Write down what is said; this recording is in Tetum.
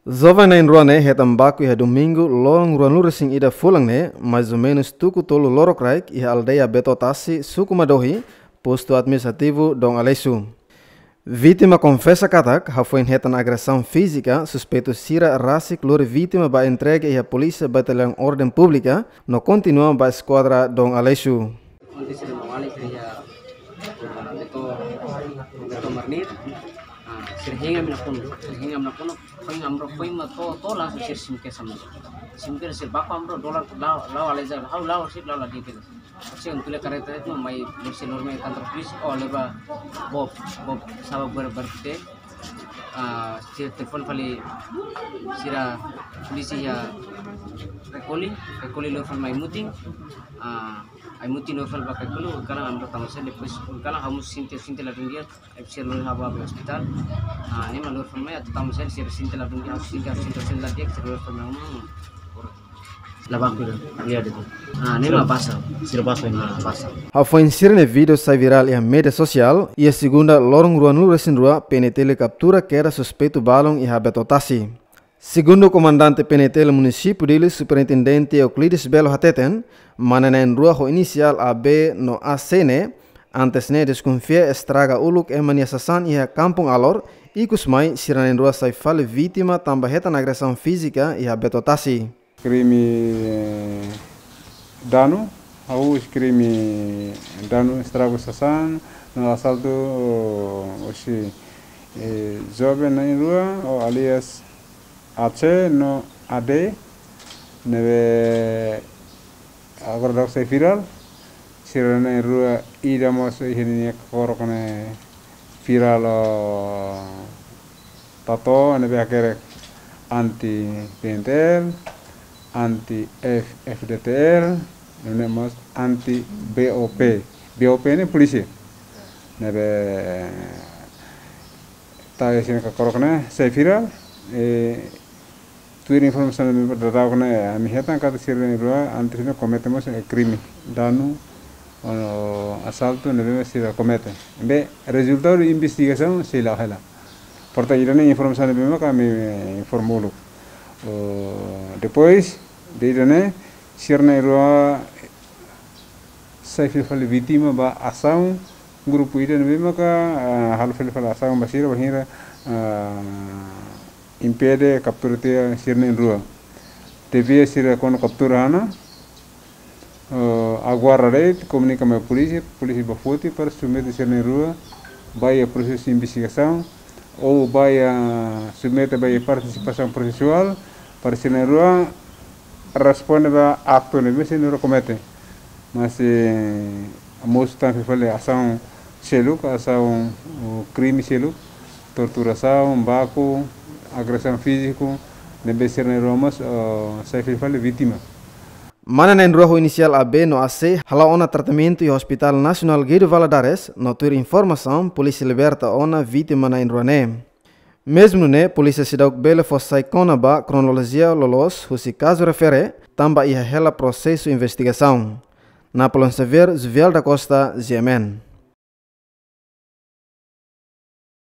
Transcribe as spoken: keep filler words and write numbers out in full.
Joven na'in-rua ne'e hetan baku iha Domingu, loron ruanulu-resin-ida fulan ne'e, mais ou menus tuku tolu lorokraik, iha aldeia Beto Tasi, suku Madohi, postu administrativu Dom Aleixo. Vítima konfesa katak, hafoin hetan agresaun fízika, suspeitu sira rasik lori vítima ba entrega iha Polísia Bataliaun Orden Públika, no kontinua ba eskuadra Dom Aleixo. Onde sira mawali sira iha, ah, Beto, Beto Marnir. Ah, sira hengam nakonu, sira hengam nakonu, foin amro foin mak to'o, to'o langsung sira simu kedas ami. Simu kedas sira baku amro dolar lao, lao aleja, ha'u lao sira lao la dikit. Sira tula kareta itu mai, mai sira lori mai kantor polisi, oh leba Bob, Bob, saba ber-, berpite. Ah, sira telefon fali sira polisi iha Caicoli, Caicoli lori fali mai Mutin. Ah, ai Mutin lori fali ba Caicoli, kalan amro tama sen, depois kalan ha'u mós sente, sente ladún di'ak, ai sira lori ha'u ba ospitál. Ah, ne'e mak lori fali mai, atu tama sen, sira sente ladún di'ak, ha'u sente, ha'u sente, sente ladún di'ak, sira lori fali mai, hmm. La baku ida, lihat itu. Ah, ne'e mak basa. Sira basa ini. Ah, basa. Hafoin sira-nia vídeo sai virál iha média sosiál, iha Segunda, loron ruanulu-resin-rua, P N T L kaptura kedas suspeitu balun iha Beto Tasi. Segundu Komandante P N T L Munisípiu Dili, Superintendente Euclides Belo hateten, mane na'in-rua ho inisiál A B no A C ne'e, antes ne'e deskonfia estraga uluk ema nia sasán iha Kampung Alor, ikusmai sira na'in-rua sai fali vítima tanba hetan agresaun fízika iha Beto Tasi. Krime danu, ha'u husi krime danu estraga sasán, no asaltu, oh, husi, eh, joven na'in-rua, oh, alias A C no A D, ne'ebé agora daudaun sai virál, sira na'in-rua ida mós iha ninia kakorok ne'e virál, oh, tatu ne'ebé hakerek anti P N T L, anti F-, F D T L, ne'e mós anti B O P. B O P ne'e polísia. Ne'ebé tau iha sira-nia kakorok ne'e sai virál, eh, tuir informasaun ne'ebé daudaun ne'e ami hetan katak sira na'in-rua antes ne'e komete mós, eh, krime danu, oh, asaltu ne'ebé mós sira komete. Maibé rezultadu investigasaun sei la'o hela. Portantu, ida-ne'e informasaun ne'ebé maka ami informa uluk. Oh, depois de ida-ne'e, sira na'in-rua sai fila fali vítima ba asaun grupu ida ne'ebé maka, ah, halo fila fali asaun ba sira bainhira, ah, impede kaptura tiha sira na'in-rua. Tebes sira kuandu kaptura ona, ah, aguarda de'it, komunika mai polísia, polísia bá foti para submete sira na'in-rua ba iha prosesu investigasaun, ou ba iha submete ba iha partisipasaun prosesuál, para sira na'in-rua responde ba aktu ne'ebé sira na'in-rua komete. Mas, eh, mosu tan fila fali asaun seluk, asaun, uh, krime seluk, torturasaun, baku, agresaun fíziku, ne'ebé sira na'in-rua mós, uh, sai fila fali vítima. Mane na'in-rua ho inisiál A B no A C hala'o ona tratamentu iha Hospital Nasionál Guido Valadares, no tuir informasaun, polísia liberta ona vítima na'in-rua ne'e. Mezmu nune'e, polísia seidauk bele fó sai kona-ba kronolojia loloos husi kazu refere, tanba iha hela prosesu investigasaun. Napoleon Xavier, Juvial da Costa, G M N.